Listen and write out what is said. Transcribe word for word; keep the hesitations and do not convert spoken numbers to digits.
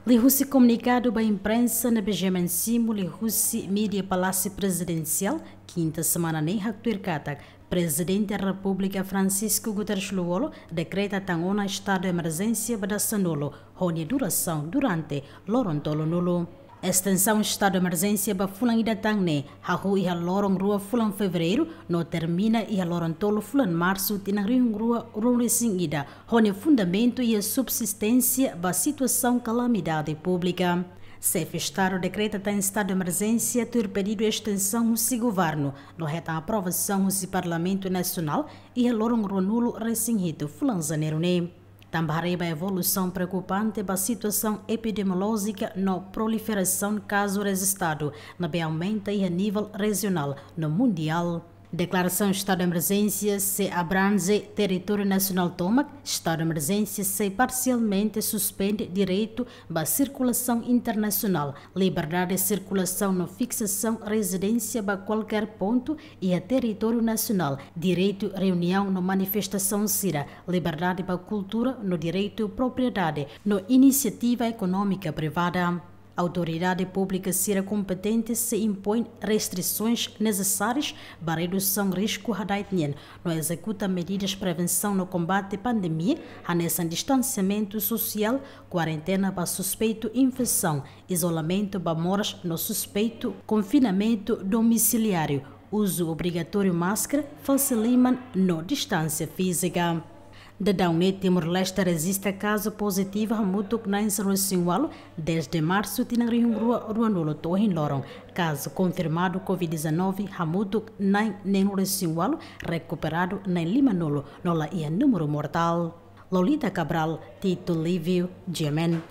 Liuhusi komunikadu ba imprensa ne'ebé simu liuhusi mídia Palásiu Prezidensiál, kinta semana ne'e haktuir katak Prezidente Repúblika Francisco Guterres Lú-Olo dekreta tan ona estadu emerjénsia ba dasanulu, ho nia durasaun durante loron tolunulu. Estensaun estadu emerjénsia ba fulan ida tan ne'e hahú iha loron rua fulan Fevereiru, no termina iha loron tolu fulan Marsu tinan rihun rua ruanulu-resin-ida, ho nia fundamentu iha subsisténsia ba situasaun kalamidade públika. Xefe Estadu dekreta tan estadu emerjénsia tuir pedidu estensaun husi governu, no hetan aprovasaun husi Parlamentu Nasionál iha loron ruanulu-resin-hitu fulan Janeiru ne'e. Tanba haree ba evolusaun preokupante ba situasaun epidemiolójika no proliferasaun kazu rejistadu, ne'ebé aumenta iha nivel rejionál no mundiál. Deklarasaun estadu emerjénsia sei abrange territóriu nasionál tomak, estadu emerjénsia sei parsialmente suspende direitu ba sirkulasaun internasionál, liberdade sirkulasaun no fiksasaun rezidénsia ba kualkér pontu iha territóriu nasionál, direitu reuniaun no manifestasaun sira, liberdade ba kultura no direitu propriedade no inisiativa ekonómika privada. Autoridade públika sira kompetente sei impoin restrisoens nesesárias ba redusaun risku hada'et nian, no ezekuta medidas prevensaun no kombate pandemia, hanesan distansiamentu sosiál, kuarentena ba suspeitu infesaun, izolamentu ba moras no suspeitu, konfinamentu domisiliáriu, uzu obrigatóriu máskara, fase liman no distánsia fízika. Daudaun ne'e Timor-Leste rejista kazu pozitivu hamutuk na'in sanulu-resin-ualu, dezde Marsu tinan rihun rua ruanulu to'o ohin loron. Kazu konfirmadu Covid dezanove hamutuk na'in neenulu-resin-ualu, rekuperadu na'in limanulu, no la iha númeru mortál. Lolita Cabral, Tito Livio, G M N.